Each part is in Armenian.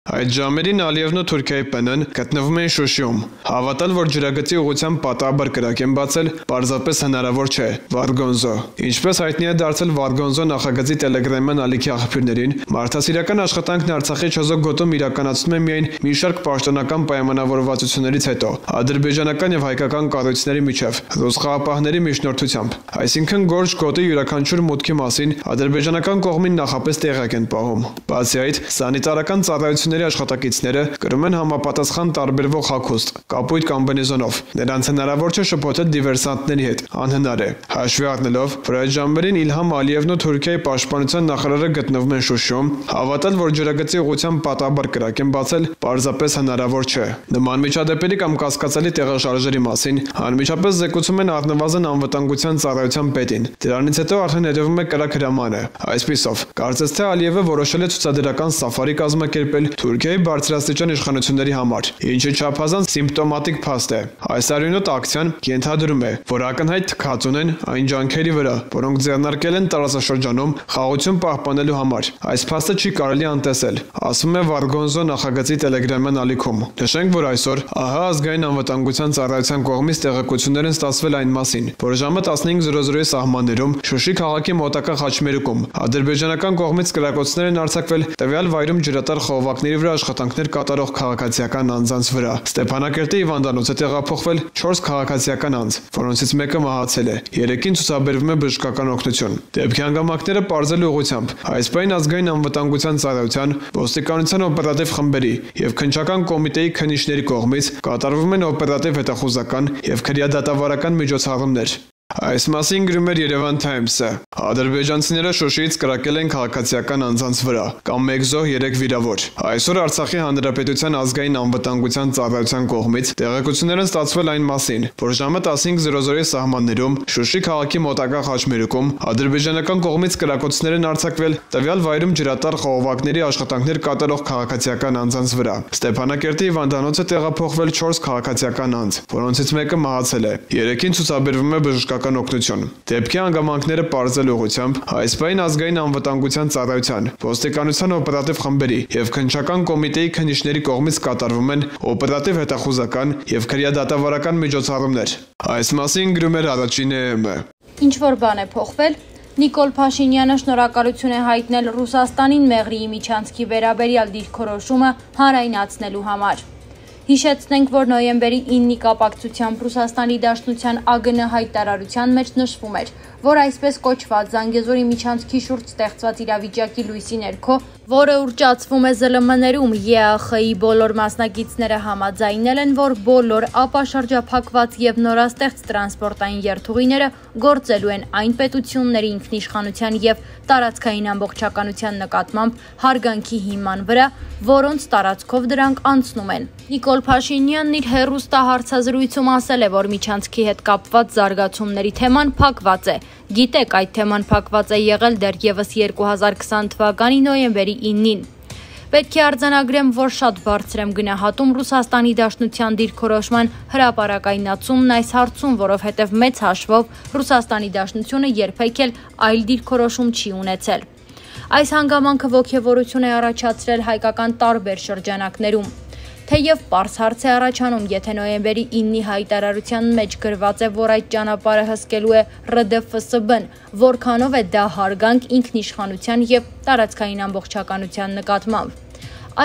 Այդ ժամերին Ալիևն ու Թուրքիայի ՊՆ-ն գտնվում էին Շուշիում։ Հավատալ, որ ջրագծի ուղղությամբ պատահաբար կրակ են բացել, պարզապես հնարավոր չէ։ Վարգոնզո։ Ինչպես հայտնի է դարձել Վարգոնզո նախագծի տելեգրամյան ալիքի աղբյուրներին, մարդասիրական աշխատանքն Արցախի Չոզոկ գոտում իրականացնում է միայն մի շարք պաշտոնական պայմանավորվածություններից հետո, ադրբեջանական եւ հայկական կառույցների միջև, ռուս խաղապահների միջնորդությամբ։ Այսինքն Գորջ գոտի յուրաքանչյուր մուտքի մասին ադրբեջանական կողմին նախապես տեղյակ են պահում։ Բացի այդ, սանիտարական ծառայությունների աշխատակիցները կրում են համապատասխան տարբերվող հագուստ, կապույտ կամբինեզոնով։ Նրանց հնարավոր չէ շփոթել դիվերսանտների հետ, անհնար է։ Հաշվի առնելով, որ այդ ժամերին Իլհամ Ալիևն ու Թուրքիայի պաշտպանության նախարարը գտնվում են Շուշիում, հավատալ, որ ջրագծի ուղղությամբ պատահաբար կրակ են բացել, պարզապես հնարավոր չէ։ Նման միջադեպերի կամ կասկածելի տեղաշարժերի մասին անմիջապես զեկուցում են առնվազն անվտանգության ծառայության պետին։ Դրանից հետո արդեն հետևում է կրակ հրամանը։ Այսպիսով, կարծես թե Ալիևը որոշել է ցուցադրական սաֆարի կազմակերպել Թուրքիայի բարձրաստիճան իշխանությունների համար, ինչը չափազանց սիմպտոմատիկ փաստ է։ Այս արյունոտ ակցիան ենթադրում է, որ ակնհայտ թքած ունեն այն ջանքերի վրա, որոնք ձեռնարկել են տարածաշրջանում խաղաղություն պահպանելու համար։ Այս փաստը չի կարելի անտեսել, ասում է Վարգոնզո նախագծի տելեգրամյան ալիքում։ Նշենք, որ այսօր ԱՀ ազգային անվտանգության ծառայության կողմից տեղեկություններ են ստացվել այն մասին, որ ժամը 15:00-ի սահմաններում Շուշի քաղաքի մոտակա խաչմերուկում ադրբեջանական կողմից կրակոցներ են արձակվել տվյալ վայրում ջրատար խողովակների վրա աշխատանքներ կատարող քաղաքացիական անձանց վրա։ Ստեփանակերտի հիվանդանոց է տեղափոխվել 4 քաղաքացիական անձ, որոնցից մեկը մահացել է, 3-ին ցուցաբերվում է բժշկական օգնություն։ Դեպքի հանգամանքները պարզելու ուղղությամբ այս պայն ազգային անվտանգության ծառայության, ոստիկանության օպերատիվ խմբերի եւ քննչական կոմիտեի քննիչների կողմից կատարվում են օպերատիվ հետախուզական եւ քրեադատավարական միջոցառումներ։ Այս մասին գրում էր Երևան Թայմսը։ Ադրբեջանցիները Շուշիից կրակել են քաղաքացիական անձանց վրա, կամ 1 զոհ 3 վիրավոր։ Այսօր Արցախի Հանրապետության ազգային անվտանգության ծառայության կողմից տեղեկություններ են ստացվել այն մասին, որ ժամը 15:00-ի սահմաններում Շուշի քաղաքի մոտակա խաչմերուկում ադրբեջանական կողմից կրակոցներ են արձակվել տվյալ վայրում ջրատար խողովակների աշխատանքներ կատարող քաղաքացիական անձանց վրա։ Ստեփանակերտի հիվանդանոց է տեղափոխվել 4 քաղաքացիական անձ, որոնցից մեկը մահացել է, 3-ին ցուցաբերվում է բժշկական օգնություն։ Դեպքի հանգամանքները պարզելու ուղղությամբ այս պայն ազգային անվտանգության ծառայության, ոստիկանության օպերատիվ խմբերի եւ քննչական կոմիտեի քննիչների կողմից կատարվում են օպերատիվ հետախուզական եւ քրեադատավարական միջոցառումներ։ Այս մասին գրում էր Առաջին ԵՄ։ Ինչ որ բան է փոխվել, Նիկոլ Փաշինյանը շնորհակալություն է հայտնել Ռուսաստանին Մեղրիի միջանցքի վերաբերյալ դիրքորոշումը հանրայնացնելու համար։ Հիշեցնենք, որ նոյեմբերի 9-ի կապակցությամբ Ռուսաստանի Դաշնության ԱԳՆ հայտարարության մեջ նշվում էր, որ այսպես կոչված Զանգեզուրի միջանցքի շուրջ ստեղծված իրավիճակի լույսի ներքո, որը ուռճացվում է ԶԼՄ-ներում, ԵԱԽ-ի բոլոր մասնակիցները համաձայնել են, որ բոլոր ապաշրջափակված եւ նորաստեղծ տրանսպորտային երթուղիները գործելու են այն պետությունների ինքնիշխանության եւ տարածքային ամբողջականության նկատմամբ հարգանքի հիման վրա, որոնց տարածքով դրանք անցնում են։ Նիկոլ Փաշինյանն իր հեռուստահարցազրույցում ասել է, որ միջանցքի հետ կապված զարգացումների թեման փակված է։ Գիտեք, այդ թեման փակված է եղել դեռևս 2020 թվականի նոյեմբերի 9-ին։ Պետք է արձանագրեմ, որ շատ բարձր եմ գնահատում Ռուսաստանի Դաշնության դիրքորոշման հրապարակայնացումն այս հարցում, որովհետև մեծ հաշվով Ռուսաստանի Դաշնությունը երբեք էլ այլ դիրքորոշում չի ունեցել։ Այս հանգամանքը ոգևորություն է առաջացրել հայկական տարբեր շրջանակներում։ Թեև պարզ հարց է առաջանում, եթե նոյեմբերի 9-ի հայտարարության մեջ գրված է, որ այդ ճանապարհը հսկելու է ՌԴՖՍԲ-ն, որքանով է դա հարգանք ինքնիշխանության եւ տարածքային ամբողջականության նկատմամբ։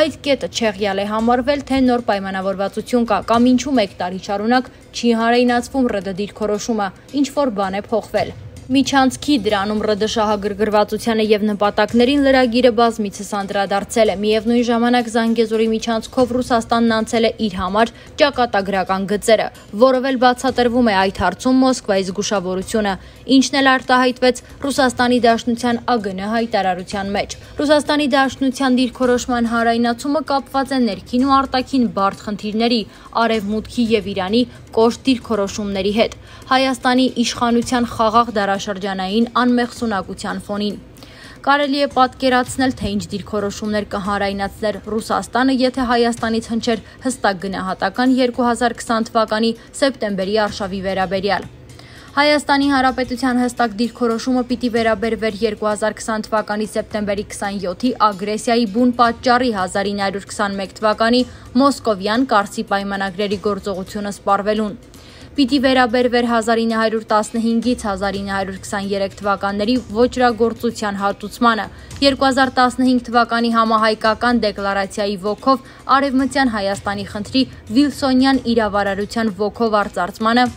Այդ կետը չեղյալ է համարվել, թե նոր պայմանավորվածություն կա, կամ ինչու մեկ տարի շարունակ չի հանրայնացվում ՌԴ դիրքորոշումը, ինչ որ բան է փոխվել։ Միջանցքի դրանում ՌԴ շահագրգռվածությանը եւ նպատակներին լրագիրը բազմիցս անդրադարձել է։ Միևնույն ժամանակ Զանգեզուրի միջանցքով Ռուսաստանն անցել է իր համար ճակատագրական գծերը, որով էլ բացատրվում է այդ հարցում Մոսկվայի զգուշավորությունը, ինչն էլ արտահայտվեց Ռուսաստանի Դաշնության ԱԳՆ հայտարարության մեջ։ Ռուսաստանի Դաշնության դիրքորոշման հանրայնացումը կապված է ներքին ու արտաքին բարդ խնդիրների, Արևմուտքի եւ Իրանի կոշտ դիրքորոշումների հետ, Հայաստանի իշխանության խաղաղ դարաշրջանային անմեղսունակության ֆոնին։ Կարելի է պատկերացնել, թե ինչ դիրքորոշումներ կհանրայնացներ Ռուսաստանը, եթե Հայաստանից հնչեր հստակ գնահատական 2020 թվականի սեպտեմբերի արշավի վերաբերյալ։ Հայաստանի Հանրապետության հստակ դիրքորոշումը պիտի վերաբերվեր 2020 թվականի սեպտեմբերի 27-ի ագրեսիայի բուն պատճառի 1921 թվականի Մոսկովյան Կարսի պայմանագրերի գործողությունը սպառվելուն։ Պիտի վերաբերվեր 1915-ից 1923 թվականների ոճրագործության հատուցմանը, 2015 թվականի համահայկական դեկլարացիայի ոգով Արևմտյան Հայաստանի խնդրի Վիլսոնյան իրավարարության ոգով արծարծմանը,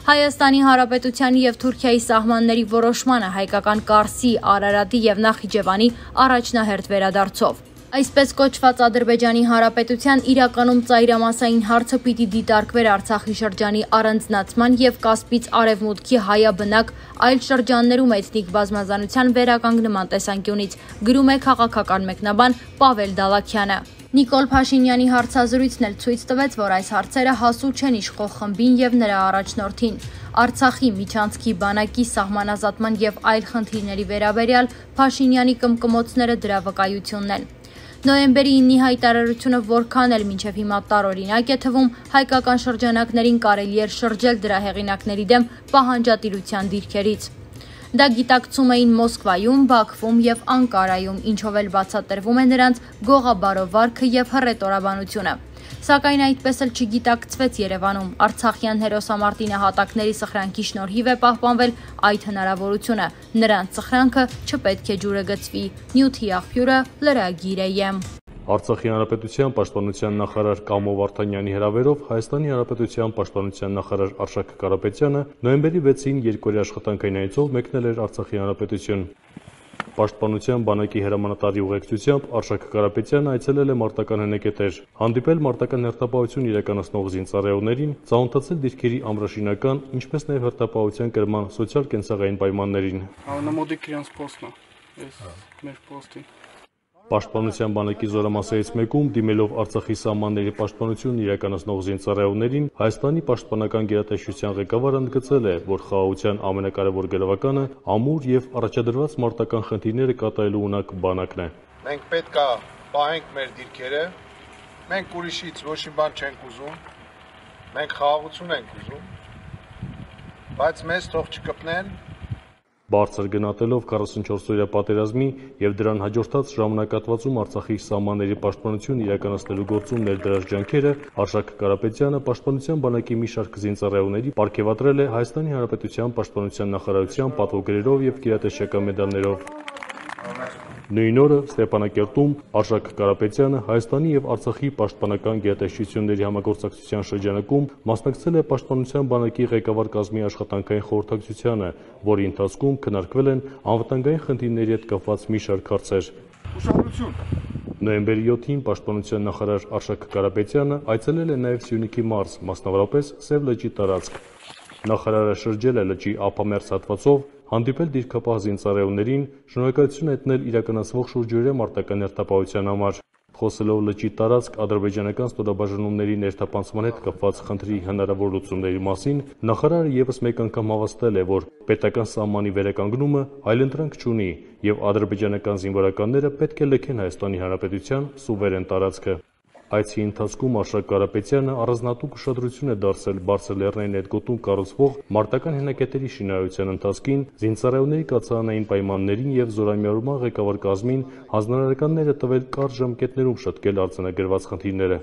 Հայաստանի Հանրապետության և Թուրքիայի սահմանների որոշմանը հայկական Կարսի, Արարատի և Նախիջևանի առաջնահերթ վերադարձով։ Այսպես կոչված Ադրբեջանի Հանրապետության իրականում ծայրամասային հարցը պիտի դիտարկվեր Արցախի շրջանի առանձնացման և Կասպից արևմուտքի հայաբնակ այլ շրջաններում էթնիկ բազմազանության վերականգնման տեսանկյունից, գրում է քաղաքական մեկնաբան Պավել Դալաքյանը։ Նիկոլ Փաշինյանի հարցազրույցն էլ ցույց տվեց, որ այս հարցերը հասու չեն իշխող խմբին և նրա առաջնորդին։ Արցախի, Միչանցքի բանակի սահմանազատման և այլ խնդիրների վերաբերյալ Փաշինյանի կմկմոցները դրա վկայությունն են։ Նոյեմբերի 9-ի հայտարարությունը որքան էլ մինչև հիմա տարօրինակ է թվում, հայկական շրջանակներին կարելի էր շրջել դրա հեղինակների դեմ պահանջատիրության դիրքերից։ Դա գիտակցում էին Մոսկվայում, Բաքվում և Անկարայում, ինչով էլ բացատրվում է նրանց գողաբարովարքը և հռետորաբանությունը։ Սակայն այդպես էլ չգիտակցվեց Երևանում։ Արցախյան հերոսամարտի նահատակների սխրանքի շնորհիվ է պահպանվել այդ հնարավորությունը։ Նրանց սխրանքը չպետք է ջուրը գցվի։ Նյութի աղբյուրը լրագիր է։ Արցախի Հանրապետության պաշտպանության նախարար Կամո Վարդանյանի հրավերով Հայաստանի Հանրապետության պաշտպանության նախարար Արշակ Կարապետյանը նոյեմբերի 6-ին երկօրյա աշխատանքային այցով մեկնել էր Արցախի Հանրապետություն։ Պաշտպանության բանակի հրամանատարի ուղեկցությամբ Արշակ Կարապետյանը այցելել է մարտական հնեկետեր, հանդիպել մարտական հերթապահություն իրականացնող զինծառայողներին, ծանոթացել դիրքերի ամրաշինական, ինչպես նաև հերթապահության կրման սոցիալ-կենցաղային պայմաններին։ Անամոդիկ իրանց պոստն է, մեր պոստի։ Պաշտպանության բանակի զորամասերից մեկում դիմելով Արցախի սահմանների պաշտպանությունն իրականացնող զինծառայողներին Հայաստանի պաշտպանական գերատեսչության ղեկավարը ընդգծել է, որ խաղաղության ամենակարևոր գրավականը ամուր եւ առաջադրված մարտական խնդիրները կատարելու ունակ բանակն է։ Մենք պետք է պահենք մեր դիրքերը, մենք ուրիշից ոչ մի բան չենք ուզում, մենք խաղաղություն ենք ուզում, բայց մեզ թող չկպնեն։ Բարձր գնահատելով 44-օրյա պատերազմի եւ դրան հաջորդած ժամանակատվածում Արցախի սահմանների պաշտպանություն իրականացնելու գործում ներդրած ջանքերը, Արշակ Կարապետյանը պաշտպանության բանակի մի շարք զինծառայողների պարգևատրել է Հայաստանի Հանրապետության պաշտպանության նախարարության պատվոգրերով եւ գերատեսչական մեդալներով։ Նույն օրը Ստեփանակերտում Արշակ Կարապետյանը Հայաստանի եւ Արցախի պաշտպանական գերատեսչությունների համագործակցության շրջանակում մասնակցել է պաշտպանության բանակի ղեկավար կազմի աշխատանքային խորհրդակցությանը, որի ընթացքում քննարկվել են անվտանգային խնդիրների հետ կապված մի շարք հարցեր։ Նոյեմբերի 7-ին պաշտպանության նախարար Արշակ Կարապետյանը այցելել է նաև Սյունիքի մարզ, մասնավորապես Սև լճի տարածք։ Նախարարը շրջել է լճի ափամերձ հատվածով, հանդիպել դիրքապահ զինծառայողներին, շնորհակալություն հայտնել իրականացվող շուրջօրյա մարտական հերթապահության համար։ Խոսելով լճի տարածք ադրբեջանական ստորաբաժանումների ներթափանցման հետ կապված խնդրի հնարավոր լուծումների մասին, նախարարը եւս մեկ անգամ հավաստել է, որ պետական սահմանի վերականգնումը այլընտրանք չունի եւ ադրբեջանական զինվորականները պետք է լքեն Հայաստանի Հանրապետության սուվերեն տարածքը։ Այցի ընթացքում Արշակ Կարապետյանը առանձնատուկ ուշադրություն է դարձել Բարձր Լեռնային հետգոտում կառուցվող մարտական հենակետերի շինարարության ընթացքին, զինծառայողների կացարանային պայմաններին եւ զորամիավորման ղեկավար կազմին հանձնարարականներ է տվել կարճ ժամկետներում շտկել արձանագրված խնդիրները։